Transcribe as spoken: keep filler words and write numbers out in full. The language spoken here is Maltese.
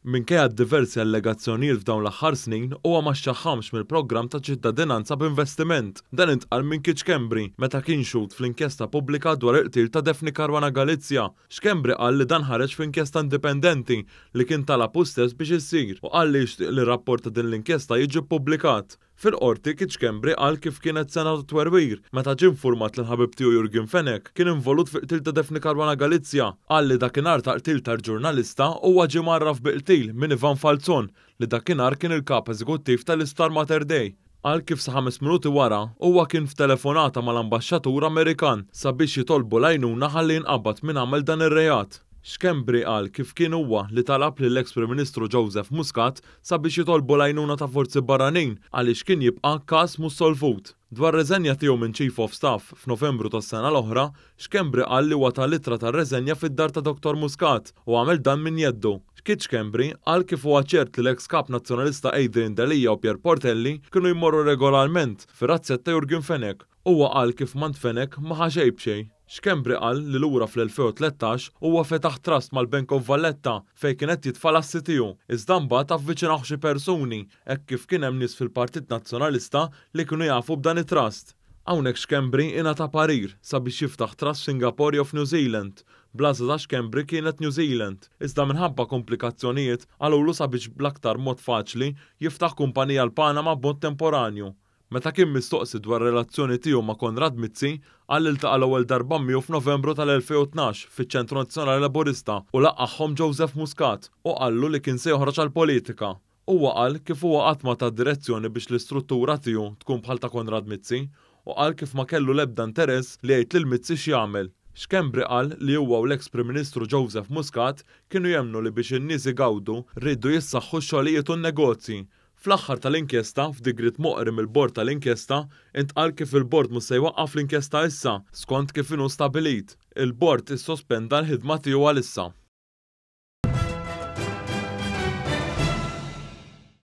Minkejja diversi allegazzjonijiet f'dawn l-aħħar snin, huwa ma xxaħħamx mill-programm ta' ċittadinanza b'investiment. Dan intqal minn Keith Schembri meta kien xhud fl-inkjesta pubblika dwar il-qtil ta' Daphne Caruana Galizia. Schembri qal li dan ħareġ f'inkjesta indipendenti li kien talab hu stess biex issir u qal li jixtieq li rapport ta' din l-inkjesta jiġi ppubblikat. Fil-qorti, Keith Schembri qal kif kienet sena ta' twerwir meta ġie informat li l-ħabib tiegħu Yorgen Fenech kien involut fil-qtil ta' Daphne Caruana Galizia. Qal li dakinhar ta' qtil tal-ġurnalista huwa ġie mgħarraf bil-qtil minn Ivan Falzon, li dakinhar kien il-kap eżekuttiv tal-Isptar Mater Dei. Qal kif sa ħames minuti wara huwa kien f'telefonata mal-ambaxxatur Amerikan sabiex jitolbu l-għajnuna ħalli jinqabad min għamel dan ir-reat. Schembri qal kif kien huwa li talab lill-ex Prim Ministru Joseph Muscat sabiex jitolbu l-għajnuna ta' forzi barranin għaliex kien jibqa' każ mhux solvut. Dwar reżenja tiegħu minn Chief of Staff f'Novembru tas-sena l-oħra, Schembri qal li huwa ta l-ittra tar-reżenja fid-dar ta' Doktor Muscat u għamel dan minn jeddu. Keith Schembri qal kif huwa ċert li l-ex kap nazzjonalista Adrian Delia u Pierre Portelli kienu jmorru regolarment fir-razzett ta' Yorgen Fenech. Huwa qal kif m'għand Fenech ma ħa xejn b'xejn. Schembri qal li lura fl-elfejn u tlettax huwa fetaħ trust mal-Bank of Valletta fejn kien qed jitfa' l-assi tiegħu, iżda mbagħad avviċinawh xi persuni hekk kif kien hemm nies fil-Partit Nazzjonalista li kienu jafu b'dan it-trust. Hawnhekk Schembri ingħata parir sabiex jiftaħ trust Singapore jew f'New Zealand. Bl-għażla ta' Schembri kienet New Zealand, iżda minħabba komplikazzjonijiet qalulu sabiex bl-aktar mod faċli jiftaħ kumpanija l-Panama b'mod temporanju. Meta kien mistoqsi dwar relazzjoni tiegħu ma' Konrad Mizzi, qal li ltaqa' l-ewwel darba miegħu f'Novembru tal-elfejn u tnax fiċ-Ċentru Nazzjonali Laburista u laqagħhom Joseph Muscat u qallu li kien se joħroġ għall-politika. Huwa qal kif huwa qatt ma ta direzzjoni biex l-istruttura tiegħu tkun bħal ta' Konrad Mizzi u qal kif ma kellu l-ebda interess li jgħid lil Mizzi x'jagħmel. Schembri qal li huwa u l-ex Prim Ministru Joseph Muscat kienu jemmnu li biex in-nies igawdu rridu jissaħħu x-xogħlijiet u n-negozji. Fl-aħħar tal-inkjesta, f'digriet moqri mill-bord tal-inkjesta, intqal kif il-bord mhux se jwaqqaf l-inkjesta issa, skont kif inhu stabilit. Il-bord issospenda l-ħidma tiegħu għalissa.